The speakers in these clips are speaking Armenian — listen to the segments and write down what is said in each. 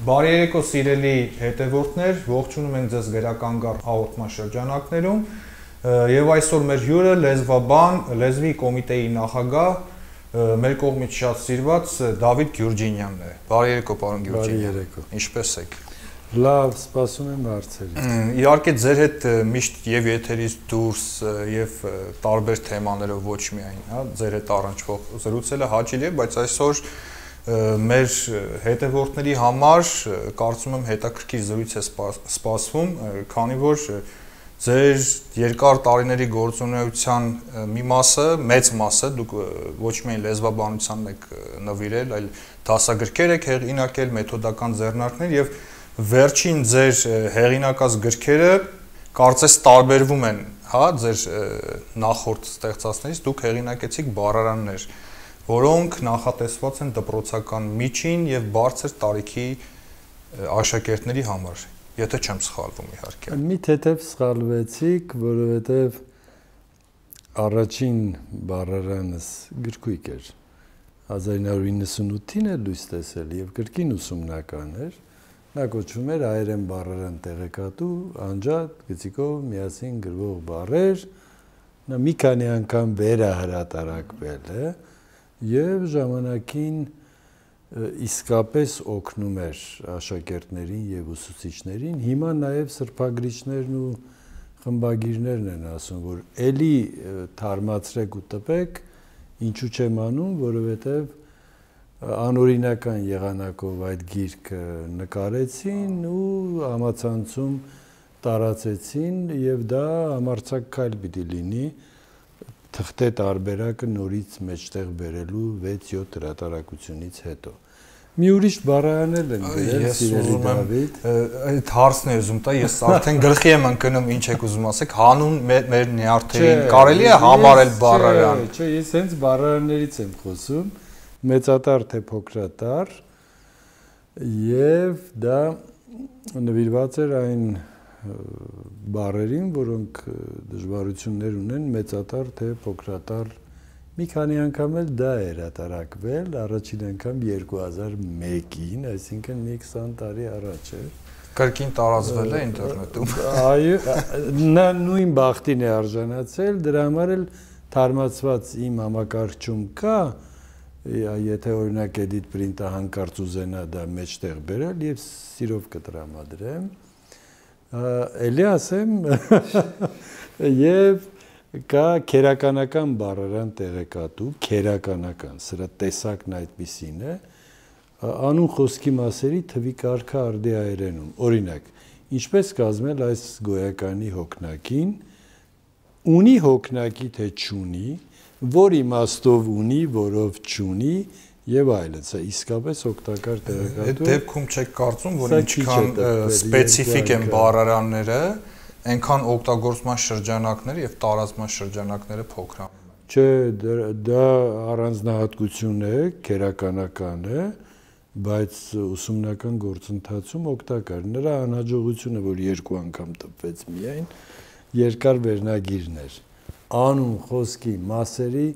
Բարի երեկո սիրելի հետևորդներ, ողջունում ենք ձեզ Գրականգառ հաղորդման շրջանակներում եւ այսօր մեր հյուրը լեզվաբան, լեզվի կոմիտեի նախագահ, մեր կողմից շատ սիրված Դավիթ Գյուրջինյանն է։ Բարի երեկո, պարոն Գյուրջինյան։ Բարի երեկո։ Ինչպե՞ս եք։ Լավ, սպասում եմ հարցերից։ Իհարկե ձեր հետ միշտ եւ եթերից դուրս եւ տարբեր թեմաներով ոչ միայն, հա, ձեր հետ առնչվող զրուցելը հաճելի է, բայց այսօր մեր հետևորդների համար կարծում եմ հետաքրքիր զրույց է սպասվում, քանի որ ձեր երկար տարիների գործունեության մի մասը, մեծ մասը դուք ոչ միայն լեզվաբանությանն եք նվիրել, այլ դասագրքեր եք հեղինակել, մեթոդական ձեռնարկներ եւ վերջին ձեր հեղինակած գրքերը կարծես տարբերվում են, հա, ձեր նախորդ ստեղծածներից, դուք հեղինակեցիք բառարաններ, որոնք նախատեսված են դպրոցական միջին եւ բարձր տարիքի աշակերտների համար, եթե չեմ սխալվում իհարկե։ Մի թեթև սխալվեցիք, որովհետեւ առաջին բառարանս գրքույկ էր 1998-ին է լույս տեսել եւ կրկին ուսումնական էր։ Նա կոչվում էր հայերեն բառարան տեղեկատու, անջատ, գծիկով միասին գրվող բառեր, նա մի քանի անգամ վերահրատարակվել է եւ ժամանակին իսկապես օգնում էր աշակերտներին եւ ուսուցիչներին։ Հիմա նաեւ սրբագրիչներն ու խմբագիրներն են ասում, որ էլի թարմացրեք ու տպեք, ինչու չեմ անում, որովհետեւ անօրինական եղանակով այդ գիրքը նկարեցին ու համացանցում տարածեցին եւ դա համարձակ քայլ պիտի լինի թղթե տարբերակը նորից մեջտեղ բերելու 6-7 հրատարակությունից հետո։ Մի ուրիշ բառարանել են գրել, սիրելի Դավիթ։ Այդ հարցն է ուզում տա, ես արդեն գլխի եմ ընկնում ինչ եք ուզում ասեք, հանուն մեր նյարդերին կարելի է համարել բառարան։ Չէ, ես հենց բառարաններից եմ խոսում, մեծատար թե փոքրատար, եւ դա նվիրված էր այն բառերին, որոնք դժվարություններ ունեն մեծատար թե փոքրատար։ Մի քանի անգամ էլ դա էր հրատարակվել, առաջին անգամ 2001-ին, այսինքն մի 20 տարի առաջ էր։ Կրկին տարածվել է ինտերնետում։ Այո, նա նույն բախտին է արժանացել, դրա համար էլ թարմացված իմ համակարգչում կա, եթե օրինակ edit print-ը հանկարծ ուզենա դա մեջտեղ բերել եւ սիրով կտրամադրեմ, էլի ասեմ, եւ կա քերականական բառարան տեղեկատու, քերականական, սրա տեսակն այդպիսին է, անուն խոսքի մասերի թվի կարգը արդի հայերենում, օրինակ, ինչպես կազմել այս գոյականի հոգնակին, ունի հոգնակի թե չունի, որ իմաստով ունի, որով չունի եւ այլն, սա իսկապես օգտակար տեղեկատու է։ Այդ դեպքում չեք կարծում, որ ինչքան սպეციფიկ են բառարանները, այնքան օգտագործման շրջանակները եւ տարածման շրջանակները փոքրանում են։ Չէ, դա առանձնահատկություն է, քերականական է, բայց ուսումնական գործընթացում օգտակար։ Նրա անհաջողությունը, որ երկու անգամ տպվեց միայն, երկար վերնագիրներ անուն խոսքի մասերի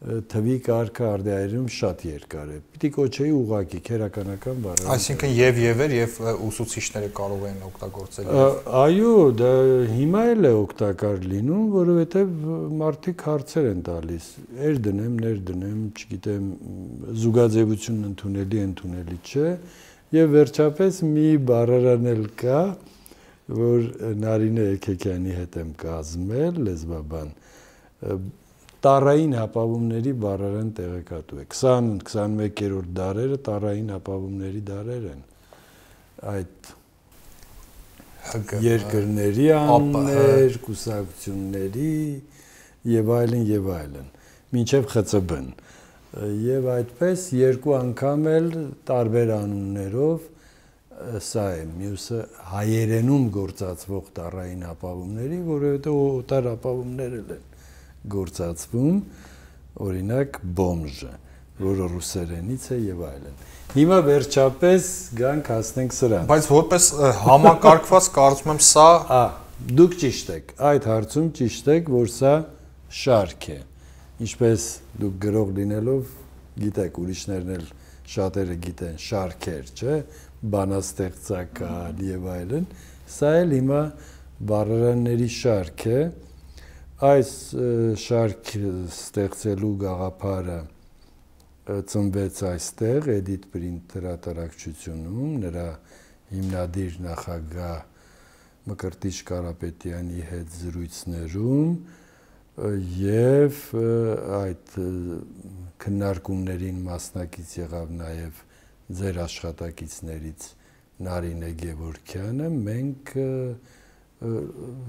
թվի կարգը արդյունքում շատ երկար է։ Պիտի կոչեի ուղղակի քերականական բառեր։ Այսինքն եւ էր եւ ուսուցիչները կարող են օգտագործել։ Այո, դա հիմա էլ է օգտակար լինում, որովհետեւ մարդիկ հարցեր են տալիս։ Էր դնեմ, ներ դնեմ, չգիտեմ, զուգաձևությունն ընդունելի չէ, եւ վերջապես մի բառարան էլ կա, որ Նարինե Էքեքյանի հետ եմ կազմել, լեզվաբան, տառային հապավումների բառարան տեղեկատու է։ 20-21-րդ դարերը տառային հապավումների դարեր են։ Այդ երկրների անուններ, կուսակցությունների եւ այլն, մինչեւ ԽՑԲ-ն։ Եվ այդպես երկու անգամ էլ տարբեր անուններով սա է, մյուսը հայերենում գործածվող տառային հապավումների, որովհետև օտար հապավումներ են գործածվում, օրինակ բոմժը, որը ռուսերենից է եւ այլն։ Հիմա վերջապես գանք հասնենք սրան։ Բայց որպես համակարգված կարծում եմ սա, դուք ճիշտ եք, այդ հարցում ճիշտ եք, որ սա շարք է։ Ինչպես դուք գրող լինելով գիտեք, ուրիշներն էլ շատերը գիտեն շարքեր, չէ՞, բանաստեղծական եւ այլն, սա էլ հիմա բառարանների շարք է, այս շարք ստեղծելու գաղափարը ծնվեց այստեղ Edit Print հրատարակչությունում, նրա հիմնադիր նախագահ Մկրտիչ Կարապետյանի հետ զրույցներում եւ այդ քննարկումներին մասնակից եղավ նաեւ ձեր աշխատակիցներից Նարինե Գևորգյանը, մենք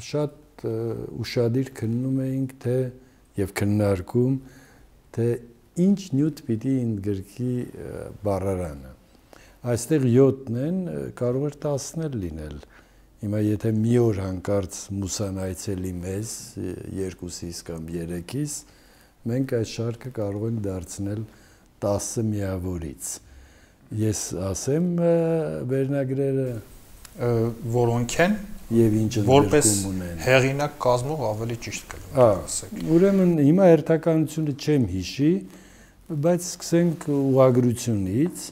շատ ուշադիր քննում էինք թե եւ քննարկում թե ինչ նյութ պիտի ընդգրկի բառարանը։ Այստեղ 7-ն են, կարող էր 10-ն էլ լինել։ Հիմա եթե մի օր հանկարծ Մուսան այցելի մեզ 2-ից կամ 3-ից, մենք այս շարքը կարող ենք դարձնել 10 միավորից։ Ես ասեմ վերնագրերը, որոնք են եւ ինչ ընդգրկում ունեն։ Հեղինակ կազմող ավելի ճիշտ կլինի։ Ուրեմն հիմա հերթականությունը չեմ հիշի, բայց սկսենք ուղղագրությունից։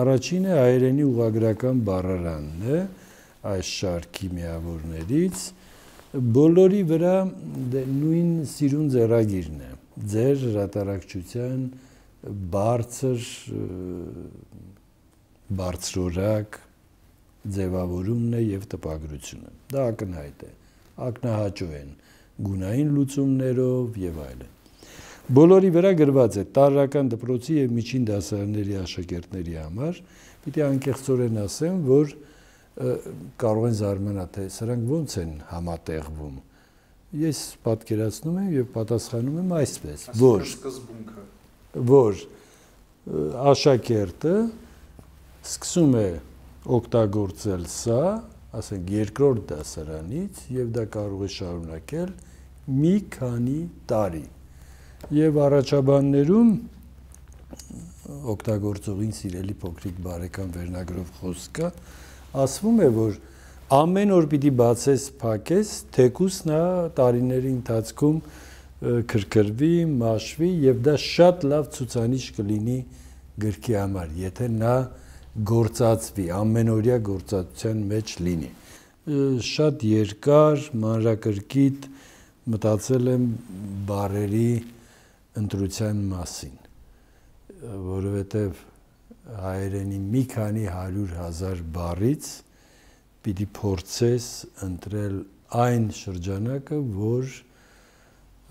Առաջինը հայերենի ուղղագրական բառարանն է այս շարքի միավորներից, բոլորի վրա նույն սիրուն ձեռագիրն է, ձեր հրատարակչության բարձրորակ ձևավորումն է եւ տպագրությունը։ Դա ակնհայտ է, ակնահաճո են գունային լուծումներով եւ այլն։ Բոլորի վրա գրված է տարրական դպրոցի եւ միջին դասարանների աշակերտների համար, պիտի անկեղծորեն ասեմ, որ կարող են զարմանալ, թե սրանք ոնց են համատեղվում։ Ես պատկերացնում եմ եւ պատասխանում եմ այսպես, որ աշակերտը սկսում է օգտագործել սա, ասենք երկրորդ դասարանից եւ դա կարող է շարունակել մի քանի տարի։ Եվ առաջաբաններում օգտագործողին սիրելի փոքրիկ բարեկամ վերնագրով խոսքը ասվում է, որ ամեն օր պիտի բացես, փակես, թեկուս նա տարիների ընթացքում քրքրվի, մաշվի եւ դա շատ լավ ցուցանիշ կլինի գրքի համար, եթե նա գործածվի, ամենօրյա գործածության մեջ լինի։ Շատ երկար, մանրակրկիտ մտածել եմ բառերի ընտրության մասին, որովհետև հայերենի մի քանի 100,000 բառից պիտի փորձես ընտրել այն շրջանակը, որ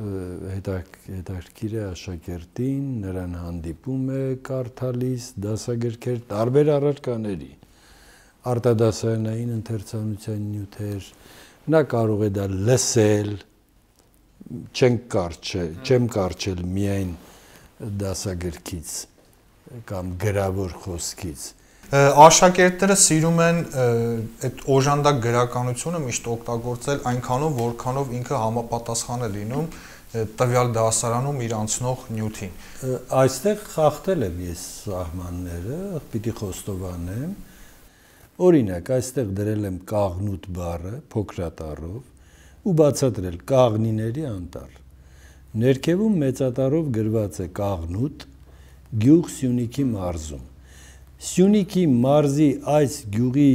հետաքրքիր է աշակերտին, նրան հանդիպում է կարդալիս դասագրքեր տարբեր առարկաների, արտադասարանային ընթերցանության նյութեր, նա կարող է դա լսել, չեմ կարճել միայն դասագրքից կամ գրավոր խոսքից։ Աշակերտները սիրում են այդ օժանդակ գրականությունը միշտ օգտագործել այնքանով, որքանով ինքը համապատասխան է լինում տվյալ դասարանում իր անցնող նյութին։ Այստեղ խախտել եմ ես սահմանները, պիտի խոստովանեմ։ Օրինակ, այստեղ դրել եմ կաղնուտ բառը փոքրատառով ու բացատրել կաղնիների անտառ։ Ներքևում մեծատառով գրված է կաղնուտ գյուղ Սյունիքի մարզում։ Սյունիքի մարզի այս գյուղի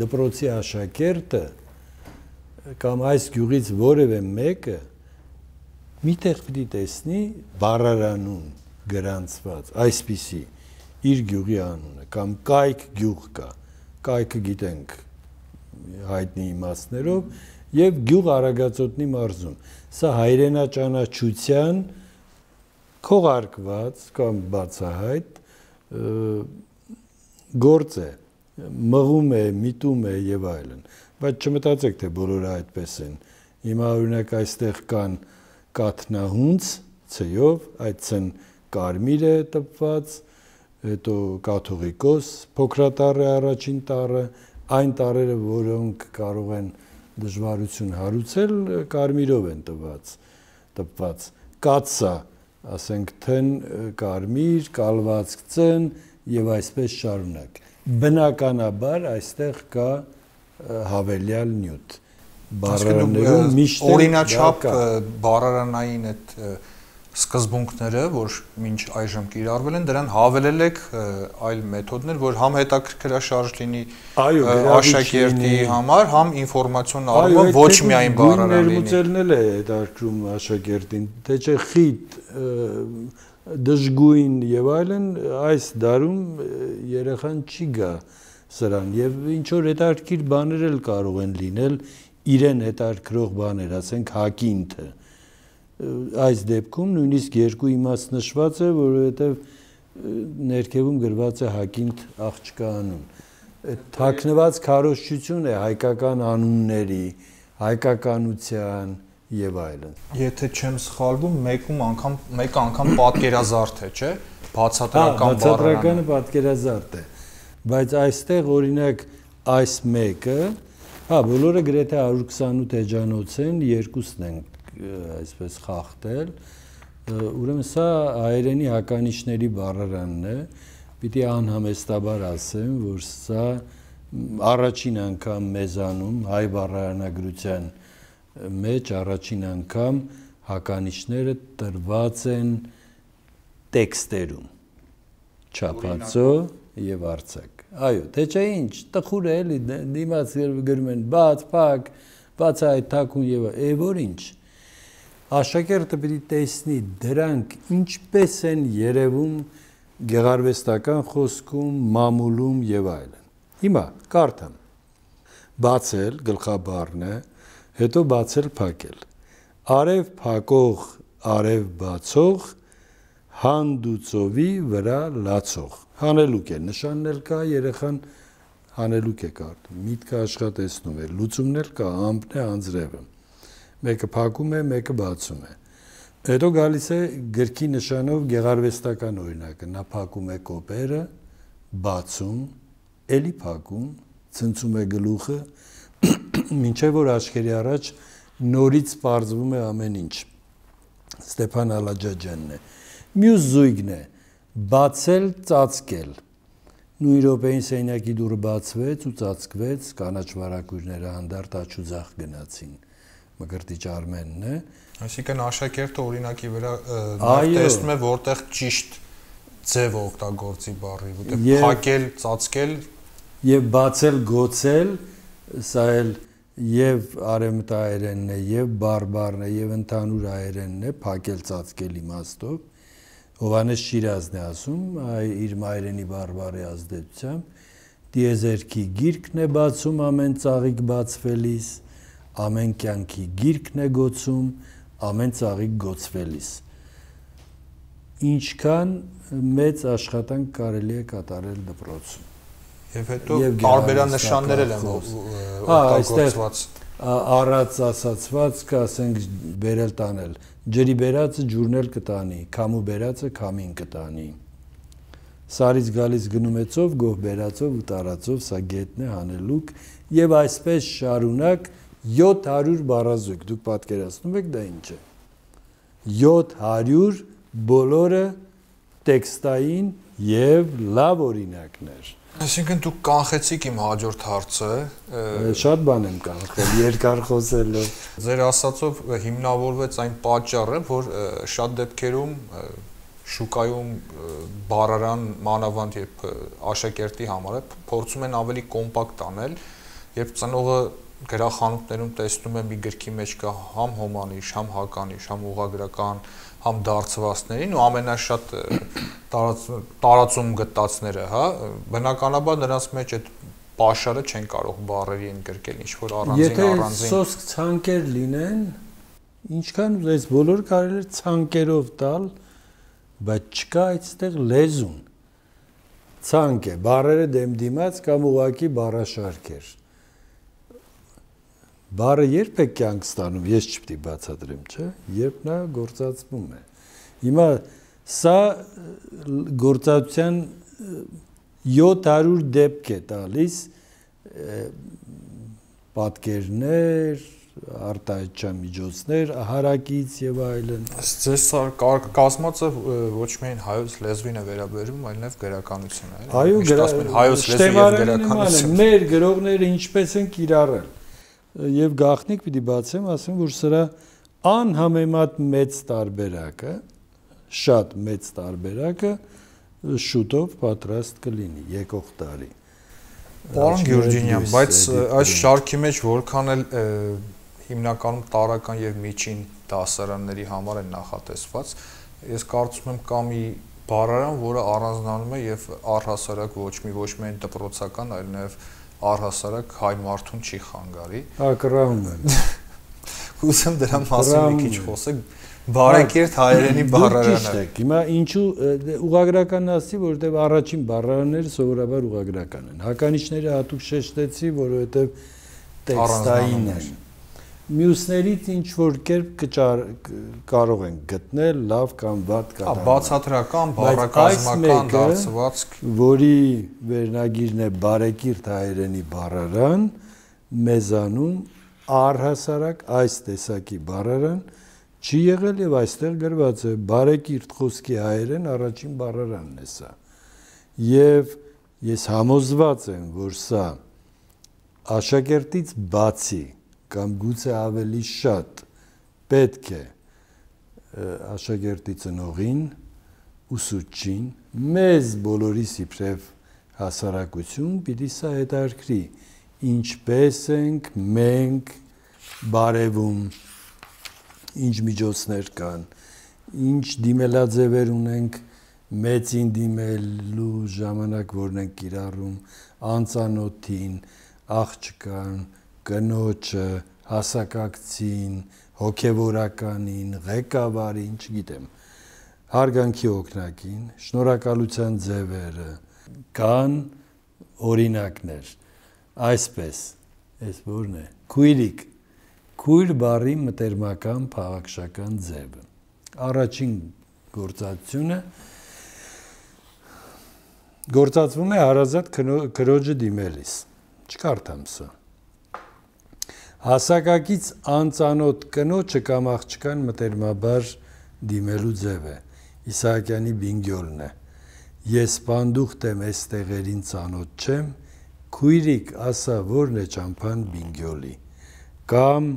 դպրոցի աշակերտը կամ այս գյուղից որևէ մեկը միտեղ պիտի տեսնի բառարանում գրանցված այսպիսի իր գյուղի անունը կամ կայք գյուղ կա, կայքը գիտենք հայտնի իմաստներով եւ գյուղ Արագածոտնի մարզում։ Սա հայրենաճանաչության քողարկված կամ բացահայտ գործ է, մղում է, միտում է եւ այլն, բայց չմտածեք, թե բոլորը այդպես են։ Հիմա օրինակ այստեղ կան կաթնահունց ցեյով, այդ ցն կարմիր է տպված, հետո կաթողիկոս, փոքրատառ է առաջին տառը, այն տառերը, որոնք կարող են դժվարություն հարուցել, կարմիրով են տպված, կացա, ասենք թն կարմիր, կալվածք ծն եւ այսպես շարունակ։ Բնականաբար այստեղ կա հավելյալ նյութ։ Բառարաններում միշտ օրինաչափ բառարանային այդ սկզբունքները, որ մինչ այժմ կիրառվել են, դրան հավելել եք այլ մեթոդներ, որ համ հետաքրքրաշարժ լինի աշակերտի համար, համ ինֆորմացիոն առումով ոչ միայն բառարան լինի։ Ներմուծելն է հետաքրքրում աշակերտին, թե չէ խիտ, դժգույն եւ այլն, այս դարում երեխան չի գա սրան եւ ինչ որ հետաքրքիր բաներ էլ կարող են լինել, իրեն հետաքրքրող բաներ, ասենք հակինթը այս դեպքում նույնիսկ երկու իմաստ նշված է, որովհետև ներքևում գրված է հակինթ աղջկա անուն։ Թաքնված քարոզչություն է հայկական անունների, հայկականության եւ այլն։ Եթե չեմ սխալվում, մեկ անգամ պատկերազարդ է, չէ՞։ Բացատրական բառարանը։ Բացատրականը պատկերազարդ է։ Բայց այստեղ օրինակ այս մեկը, բոլորը գրեթե 128 էջանոց են, երկուսն են այսպես խախտել, ուրեմն սա հայերենի հականիշների բառարանն է, պիտի անհամեստաբար ասեմ, որ սա առաջին անգամ մեզանում հայ բառարանագրության մեջ առաջին անգամ հականիշները տրված են տեքստերում, չափածո եւ արձակ։ Այո, թե չէ ինչ, տխուր է էլի, դիմաց գրում են բաց, փակ, բաց այդ թակուն եւ որ ինչ։ Աշակերտը պիտի տեսնի դրանք ինչպես են երևում գեղարվեստական խոսքում, մամուլում եւ այլն։ Հիմա կարդամ։ Բացել գլխաբառն է, հետո բացել փակել։ Արև փակող, արև բացող, հանդուծովի վրա լացող։ Հանելուկ է, նշանն էլ կա, երեխան հանելուկ է կարդում։ Միտքը աշխատեցնում է, լուծումն էլ կա, ամպն է, անձրևը։ Մեկը փակում է, մեկը բացում է։ Հետո գալիս է գրքի նշանով գեղարվեստական օրինակը, նա փակում է կոպերը, բացում, էլի փակում, ցնցում է գլուխը, մինչև որ աչքերի առաջ նորից պարզվում է ամեն ինչ։ Ստեփան Ալաջաջյանն է։ Մյուս զույգն է բացել, ծածկել։ Նույն րոպեին սենյակի դուռը բացվեց ու ծածկվեց, կանաչ վարակույրները հանդարտ աչուձախ գնացին։ Մկրտիչ Արմենն է։ Այսինքն աշակերտը օրինակի վրա տեսնում է որտեղ ճիշտ ձև օգտագործի բառի, որտեղ փակել, ծածկել եւ բացել, գոցել, սա էլ եւ արեմտահայերենն է, եւ բարբառն է, եւ ընդհանուր հայերենն է, փակել, ծածկել իմաստով։ Հովհաննես Շիրազն է ասում, իր մայրենի բարբառի ազդեցությամբ, դիեզերքի գիրքն է բացում ամեն ծաղիկ բացվելիս, ամեն կյանքի գիրքն է գոցում, ամեն ծաղիկ գոցվելիս։ Ինչքան մեծ աշխատանք կարելի է կատարել դպրոցում։ Եվ հետո տարբերանշաններ են օգտագործված։ Առած ասացված կա, ասենք բերել տանել։ Ջրի բերածը ջուրն էլ կտանի, քամու բերածը քամին կտանի։ Սարից գալիս գնում է ծով, գող բերածով ու տարածով, սա գետն է, հանելուկ, եւ այսպես շարունակ 700 բառազույգ, դուք պատկերացնում եք դա ինչ է։ 700 բոլորը տեքստային եւ լավ օրինակներ։ Այսինքն դուք կանխեցիք իմ հաջորդ հարցը։ Շատ բան եմ կանխել, երկար խոսելով։ Ձեր ասածով հիմնավորվեց այն պատճառը, որ շատ դեպքերում շուկայում բառարան մանավանդ երբ աշակերտի համար է, փորձում են ավելի կոմպակտ անել, երբ ծնողը գրախանութներում տեսնում է մի գրքի մեջ կա համ հոմանիշ, համ հականիշ, համ ուղղագրական, համ դարձվածներին ու ամենաշատ տարածում գտածները, հա, բնականաբար նրանց մեջ այդ պաշարը չեն կարող բառերի ընդգրկել, ինչ որ առանձին Եթե սոսկ ցանկեր լինեն, ինչքան ուզես բոլոր կարելի է ցանկերով տալ, բայց չկա այդտեղ լեզուն։ Ցանկ է, բառերը դեմ դիմաց կամ ուղակի բառաշարքեր։ Բառը երբ է կյանք ստանում, ես չպետք է բացատրեմ, չէ՞, երբ նա գործածվում է։ Հիմա սա գործածության 700 դեպք է տալիս պատկերներ, արտահայտչական միջոցներ, հարակից եւ այլն։ Ձեզ կազմածը ոչ միայն հայոց լեզվին է վերաբերում, այլ նաեւ գրականությունը, էլի։ Այո, հայոց լեզվի եւ գրականություն։ Մեր գրողները ինչպես են կիրառել։ Եվ գաղտնիք պիտի բացեմ, ասեմ, որ սրա անհամեմատ մեծ տարբերակը, շատ մեծ տարբերակը շուտով պատրաստ կլինի եկող տարի։ Պարոն Գյուրջինյան, բայց այս շարքի մեջ որքան էլ հիմնականում տարրական եւ միջին դասարանների համար են նախատեսված, ես կարծում եմ կա մի բառարան, որը առանձնանում է եւ առհասարակ ոչ միայն դպրոցական, այլ նաեւ առհասարակ հայ մարդուն չի խանգարի։ Ակրահում եմ։ Ուզում դրա մասին մի քիչ խոսեք, բարեկիրթ հայերենի բառարանը։ Հիմա ինչու ուղղագրական ասի, որովհետեւ առաջին բառարանները սովորաբար ուղղագրական են։ Հականիչները հատուկ շեշտեցի, որովհետեւ տեքստային են։ Մյուսներից ինչ որ կերպ կարող են գտնել լավ կամ վատ կատարում։ Բացատրական, բառակազմական դարձվածք, որի վերնագիրն է բարեկիրթ հայերենի բառարան, մեզանում առհասարակ այս տեսակի բառարան չի եղել եւ այստեղ գրված է բարեկիրթ խոսքի հայերեն առաջին բառարանն է սա։ Եվ ես համոզված եմ, որ սա աշակերտից բացի կամ գուցե ավելի շատ պետք է աշակերտի ծնողին, ուսուցչին, մեզ բոլորիս իբրև հասարակություն պիտի սա հետաքրքրի, ինչպես ենք մենք բարևում, ինչ միջոցներ կան, ինչ դիմելաձևեր ունենք մեծին դիմելու ժամանակ, որն ենք կիրառում, անծանոթին, աղջկան, կնոջը, հասակակցին, հոգևորականին, ղեկավարին, չգիտեմ, հարգանքի օգնակին, շնորհակալության ձևերը, կան օրինակներ, այսպես, այս որն է, քույրիկ, քույր բառի մտերմական փաղաքշական ձևը, առաջին գործածությունը գործածվում է հարազատ քրոջը դիմելիս, չկարդամ սա, հասակակից անծանոթ կնոջը կամ աղջկան մտերմաբար դիմելու ձև է, Իսահակյանի բինգյոլն է, ես պանդուխտ եմ այս տեղերին ծանոթ չեմ, քույրիկ ասա որն է ճամփան բինգյոլի, կամ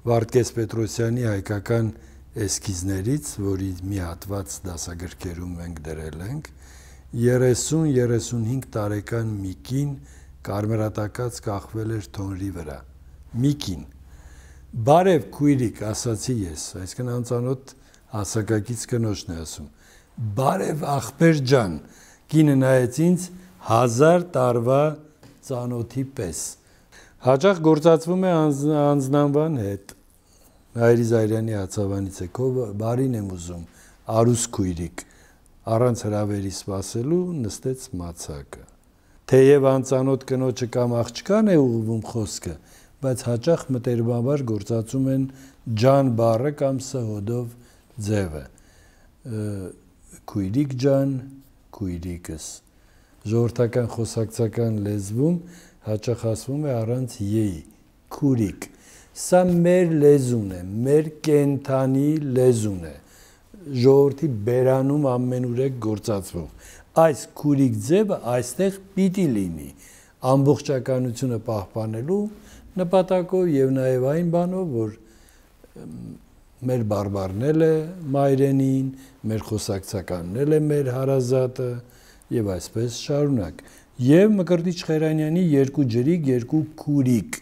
Վարդգես Պետրոսյանի հայկական էսքիզներից, որի մի հատված դասագրքերում մենք դրել ենք, 30-35 տարեկան մի կին կարմրատակած կախվել էր թոնրի վրա, մի կին, բարև քույրիկ ասացի ես, այսինքն անծանոթ հասակակից կնոջն է ասում, բարև ախպեր ջան, կինը նայեց ինձ 1000 տարվա ծանոթի պես, հաճախ գործածվում է անձնանվան հետ, Հայրի Զայրյանի հացավանից է, քո բարին եմ ուզում, արուս քույրիկ, առանց հրավերի սպասելու նստեց մացակը, թեև անծանոթ կնոջը կամ աղջկան է ուղղվում խոսքը, բայց հաճախ մտերմաբար գործածում են ջան բառը կամ սհոդով ձևը, քույրիկ ջան, քույրիկս, ժողովրդական խոսակցական լեզվում հաճախ ասվում է առանց յեի, քուրիկ, սա մեր լեզուն է, մեր կենթանի լեզուն է, ժողովրդի բերանում ամենուրեք գործածվող, այս քուրիկ ձևը այստեղ պիտի լինի, ամբողջականությունը պահպանելու նպատակով եւ նաեւ այն բանով, որ մեր բարբառն է մայրենին, մեր խոսակցականն է մեր հարազատը եւ այսպես շարունակ։ Եվ Մկրտիչ Խերանյանի երկու ջրիկ, երկու քուրիկ,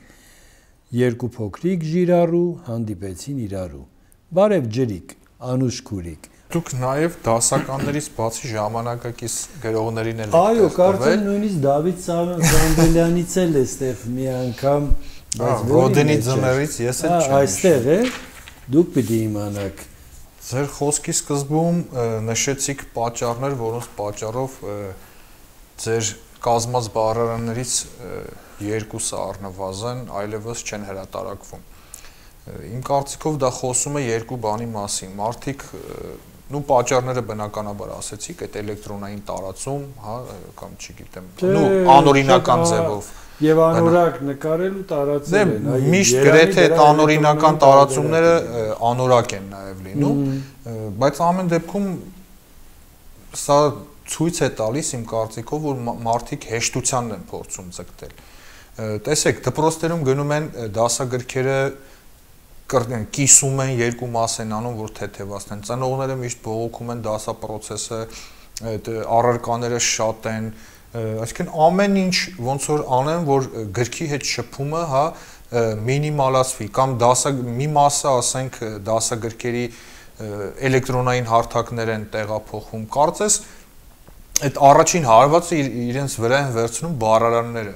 երկու փոքրիկ ժիրառու հանդիպեցին իրարու։ Բարև ջրիկ, անուշ քուրիկ։ Դուք նաև դասականներից բացի ժամանակակից գրողներին էլ եք Այո, կարծեմ նույնիսկ Դավիթ Սամվելյանից էլ էստեղ մի անգամ Ռոդենի ձմեռից ես էլ չեմ։ Այստեղ է, դուք պիտի իմանաք։ Ձեր խոսքի սկզբում նշեցիք պատճառներ, որոնց պատճառով ձեր կազմած բառարաններից երկուսը առնվազն այլևս չեն հրատարակվում։ Իմ կարծիքով դա խոսում է երկու բանի մասին։ Մարդիկ նու պատճառները բնականաբար ասեցիք, այդ էլեկտրոնային տարածում, հա, կամ չգիտեմ, նու անօրինական ձևով Եվ անորակ նկարել ու տարածել են։ Միշտ գրեթե այդ անօրինական տարածումները անորակ են նաև լինում, բայց ամեն դեպքում սա ցույց է տալիս իմ կարծիքով, որ մարդիկ հեշտությանն են փորձում ձգտել։ Տեսեք, դպրոցներում գնում են դասագրքերը կիսում են երկու մաս են անում, որ թեթևացնեն։ Ծնողները միշտ բողոքում են դասապրոցեսը, այդ առարկաները շատ են, այսինքն ամեն ինչ ոնց որ անեն, որ գրքի հետ շփումը, հա, մինիմալացվի կամ մի մասը, ասենք, դասագրքերի էլեկտրոնային հարթակներ են տեղափոխում։ Կարծես այդ առաջին հարվածը իրենց վրա են վերցնում բառարանները։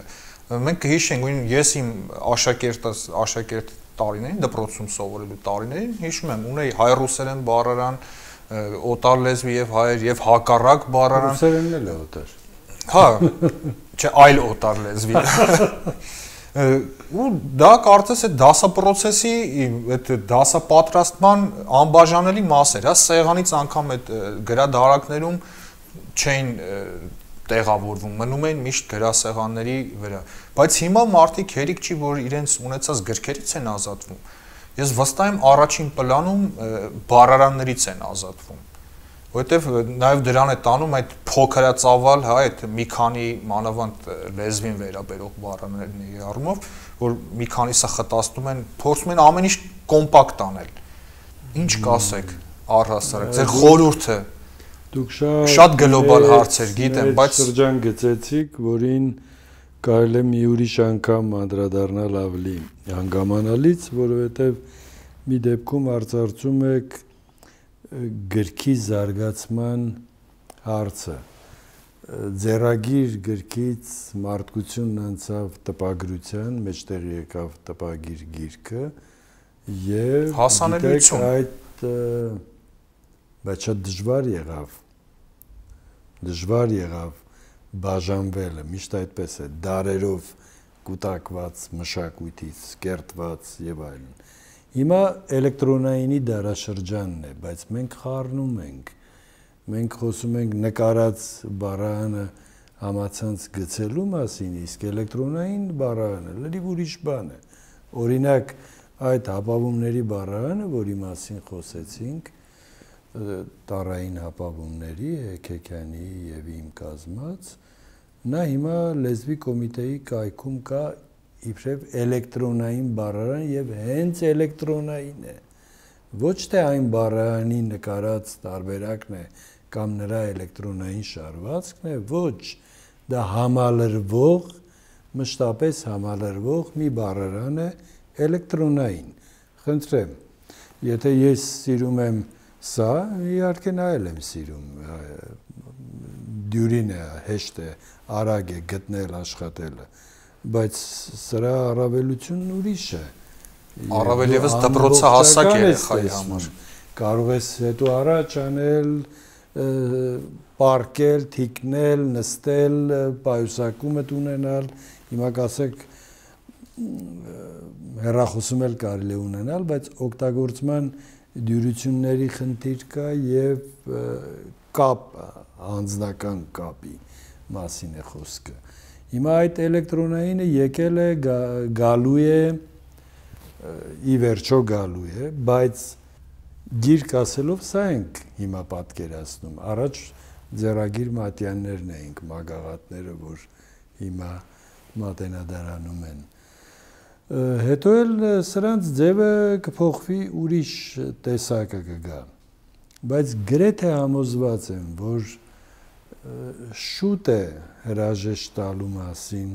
Մենք կհիշենք, ես իմ աշակերտ տարիներին, դպրոցում սովորելու տարիներին հիշում եմ, ունեի հայ-ռուսերեն բառարան, օտար լեզվի եւ հայեր եւ հակառակ բառարան։ Ռուսերենն էլ է օտար։ Հա, չէ, այլ օտար լեզվի։ Ու դա կարծես այդ դասապրոցեսի, այդ դասապատրաստման անբաժանելի մաս էր, հա, սեղանից անգամ այդ գրադարակներում չէին տեղավորվում, մնում էին միշտ գրասեղանների վրա, բայց հիմա մարդիկ հերիք չի, որ իրենց ունեցած գրքերից են ազատվում։ Ես վստահ եմ առաջին պլանում բառարաններից են ազատվում, որովհետև նաև դրան է տանում այդ փոքրածավալ, հա, այդ մի քանի մանավանդ լեզվին վերաբերող բառարանների առումով, որ մի քանիսը խտացնում են, փորձում են ամեն ինչ կոմպակտ անել։ Ինչ կասեք առհասարակ, ձեր խորհուրդը։ Դուք շատ գլոբալ հարցեր գիտեմ, բայց շրջան գծեցիք, որին կարելի է մի ուրիշ անգամ անդրադառնալ ավելի հանգամանալից, որովհետև մի դեպքում արծարծում եք գրքի զարգացման հարցը։ Ձեռագիր գրքից մարդկությունն անցավ տպագրության, մեջտեղի եկավ տպագիր գիրքը եւ հասանելիություն այդ բայց շատ դժվար եղավ բաժանվելը, միշտ այդպես է, դարերով կուտակված մշակույթից, կերտված եւ այլն։ Հիմա էլեկտրոնայինի դարաշրջանն է, բայց մենք խառնում ենք։ Մենք խոսում ենք նկարած բառարանը համացանց գցելու մասին, իսկ էլեկտրոնային բառարանը լրիվ ուրիշ բան է։ Օրինակ, այդ հապավումների բառարանը, որի մասին խոսեցինք, տարային հապավումների, Հեքեքյանի եւ իմ կազմած, նա հիմա լեզվի կոմիտեի կայքում կա իբրև էլեկտրոնային բառարան եւ հենց էլեկտրոնային է։ Ոչ թե այն բառարանի նկարած տարբերակն է կամ նրա էլեկտրոնային շարվածքն է, ոչ, դա համալրվող, մշտապես համալրվող մի բառարան է էլեկտրոնային։ Խնդրեմ, եթե ես սիրում եմ սա, իհարկե նա էլ եմ սիրում, դյուրին է, հեշտ է, արագ է գտնել աշխատելը, բայց սրա առավելությունն ուրիշ է։ Առավել ևս դպրոցահասակ երեխայի համար։ Կարող ես հետո առաջ անել, պարկել, թիկնել, նստել, պայուսակումդ ունենալ, հիմա կասեք հեռախոսում էլ կարելի է ունենալ, բայց օգտագործման դյուրությունների խնդիր կա եւ կապ, անձնական կապի մասին է խոսքը։ Հիմա այդ էլեկտրոնայինը եկել է, գալու է, ի վերջո գալու է, բայց գիրք ասելով սա ենք հիմա պատկերացնում։ Առաջ ձեռագիր մատյաններն էինք, մագաղատները, որ հիմա մատենադարանում են։ Հետո էլ սրանց ձևը կփոխվի, ուրիշ տեսակը կգա, բայց գրեթե համոզված եմ, որ շուտ է հրաժեշտ տալու մասին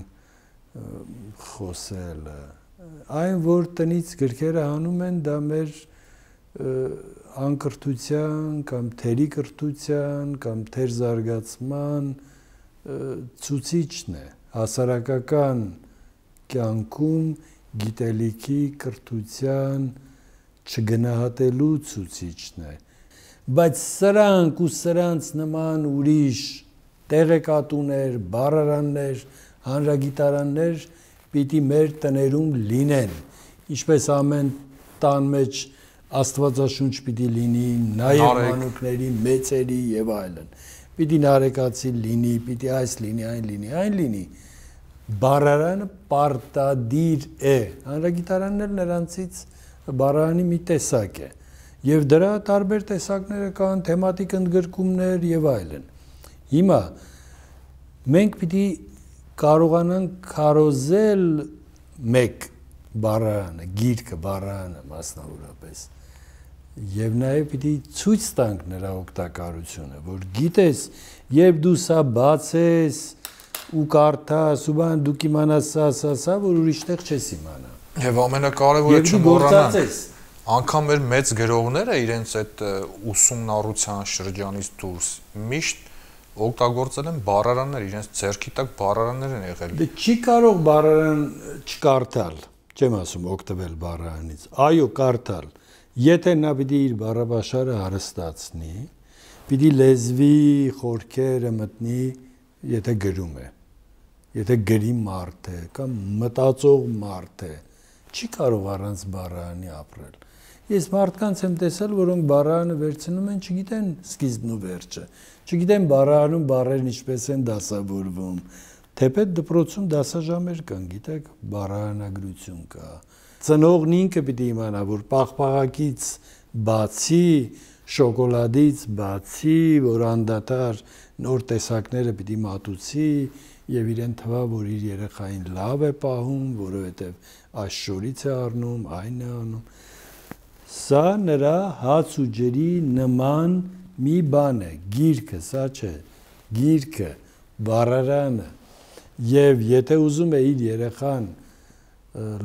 խոսելը, այն որ տնից գրքերը հանում են, դա մեր անկրթության կամ թերի կրթության կամ թեր զարգացման ցուցիչն է, հասարակական կյանքում գիտելիքի կրթության չգնահատելու ցուցիչն է, բայց սրանք ու սրանց նման ուրիշ տեղեկատուներ, բառարաններ, հանրագիտարաններ պիտի մեր տներում լինեն, ինչպես ամեն տան մեջ Աստվածաշունչ պիտի լինի, նաև մանուկների, մեծերի եւ այլն, պիտի նարեկացի լինի, պիտի այս լինի, այն լինի, բառարանը պարտադիր է, հանրագիտարանն էլ նրանցից բառարանի մի տեսակ է, եւ դրա տարբեր տեսակները կան, թեմատիկ ընդգրկումներ եւ այլն։ Հիմա մենք պիտի կարողանանք քարոզել մեկ բառարանը, գիրքը, բառարանը մասնավորապես։ Եվ նաև պիտի ցույց տանք նրա օգտակարությունը, որ գիտես, երբ դու սա բացես ու կարդաս ու բան դու կիմանաս սա, որ ուրիշտեղ չես իմանա։ Եվ ամենակարևորը չմոռանանք, անգամ մեր մեծ գրողները իրենց այդ ուսումնառության շրջանից դուրս միշտ օգտագործել են բառարաններ, իրենց ձեռքի տակ բառարաններ են եղել։ Դե չի կարող բառարան չկարդալ, չեմ ասում օգտվել բառարանից, այո, կարդալ։ Եթե նա պիտի իր բառաբաշարը հարստացնի, պիտի լեզվի խորքերը մտնի, եթե գրում է, եթե գրի մարդ է կամ մտածող մարդ է, չի կարող առանց բառարանի ապրել։ Ես մարդկանց եմ տեսել, որոնք բառարանը վերցնում են, չգիտեն սկիզբն ու վերջը, չգիտեն բառարանում բառերն ինչպես են դասավորվում, թեպետ դպրոցում դասաժամեր կան, գիտեք, բառարանագրություն կա։ Ծնողն ինքը պիտի իմանա, որ պաղպաղակից բացի, շոկոլադից բացի, որ անդադար նոր տեսակները պիտի մատուցի եւ իրեն թվա, որ իր երեխային լավ է պահում, որովհետեւ այս շորից է առնում, այն է անում։ Սա նրա հաց ու ջրի նման մի բան է, գիրքը, սա չէ, գիրքը, բառարանը, եւ եթե ուզում է իր երեխան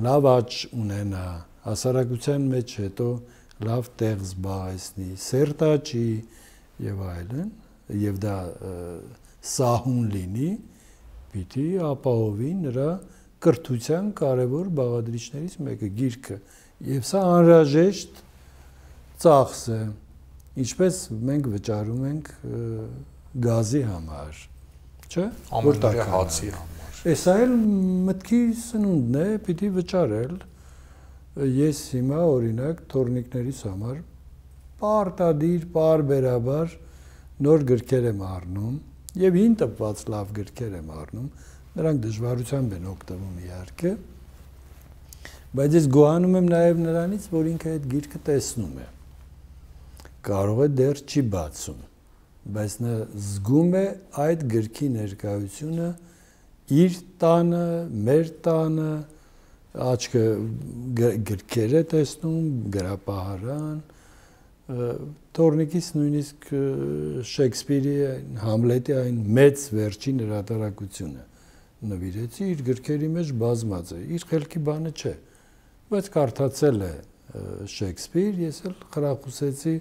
լավ աճ ունենա, հասարակության մեջ հետո լավ տեղ զբաղեցնի, սերտ աճի եւ այլն, եւ դա սահուն լինի, պիտի ապահովի նրա կրթության կարևոր բաղադրիչներից մեկը գիրքը, եւ սա անհրաժեշտ ծախս է, ինչպես մենք վճարում ենք գազի համար, չէ՞, ամենօրյա հացի համար։ Սա էլ մտքի սնունդն է, պիտի վճարել։ Ես հիմա օրինակ թորնիկներիս համար պարտադիր, պարբերաբար նոր գրքեր եմ առնում եւ հին տպված լավ գրքեր եմ առնում, նրանք դժվարությամբ են օգտվում իհարկե, բայց ես գոհանում եմ նաեւ նրանից, որ ինքը այդ գիրքը տեսնում է։ Կարող է դեռ չի բացում, բայց նա զգում է այդ գրքի ներկայությունը իր տանը, մեր տանը, աչքը գրքեր է տեսնում, գրապահարան, թորնիկից նույնիսկ Շեքսպիրի, Համլետի այն մեծ վերջին հրատարակությունը նվիրեցի, իր գրքերի մեջ բազմած է, իր խելքի բանը չէ, բայց կարդացել է Շեքսպիր, ես էլ խրախուսեցի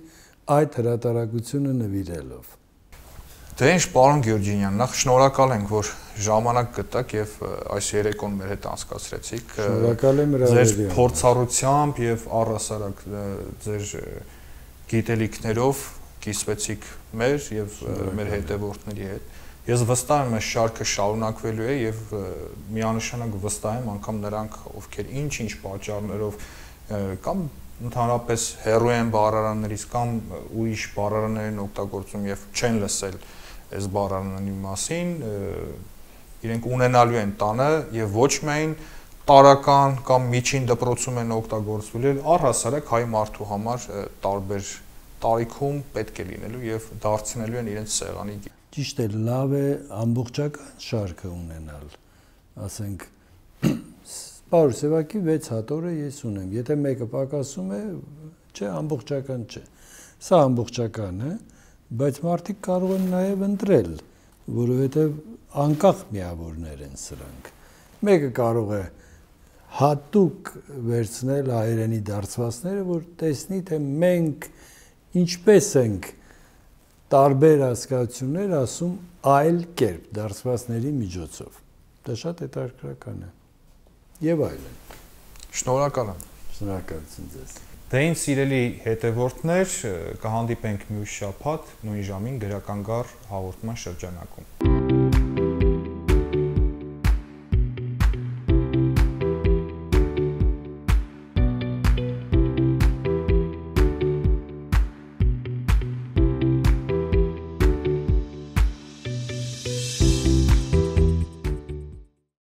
այդ հրատարակությունը նվիրելով։ Դե ինչ, պարոն Գյուրջինյան, նախ շնորհակալ ենք, որ ժամանակ գտաք եւ այս երեկոն մեր հետ անցկացրեցիք։ Շնորհակալ եմ հրավերի Ձեր փորձառությամբ եւ առհասարակ ձեր գիտելիքներով կիսվեցիք մեր եւ մեր հետևորդների հետ։ Ես վստահ եմ, այս շարքը շարունակվելու է եւ միանշանակ վստահ եմ անգամ նրանք, ովքեր ինչ-ինչ պատճառներով կամ ընդհանրապես հեռու են բառարաններից կամ ուրիշ բառարաններ են օգտագործում եւ չեն լսել այս բառարանների մասին, իրենք ունենալու են տանը եւ ոչ միայն տարական կամ միջին դպրոցում են օգտագործվել, առհասարակ հայ մարդու համար տարբեր տարիքում պետք է լինելու եւ դարձնելու են իրենց սեղանի։ Ճիշտ է, լավ է ամբողջական շարքը ունենալ, ասենք Պարուս Սևակի 6 հատորը ես ունեմ, եթե մեկը պակասում է, չէ, ամբողջական չէ, սա ամբողջական է, բայց մարդիկ կարող են նաև ընտրել, որովհետև անկախ միավորներ են սրանք, մեկը կարող է հատուկ վերցնել հայերենի դարձվածները, որ տեսնի, թե մենք ինչպես ենք տարբեր հասկացություններ ասում այլ կերպ դարձվածների միջոցով, դա շատ հետաքրքրական է։ Եվ այլն։ Շնորհակալ եմ։ Շնորհակալություն ձեզ։ Դե ինձ սիրելի հետևորդներ, կհանդիպենք մյուս շաբաթ նույն ժամին գրական գար հաղորդման շրջանակում։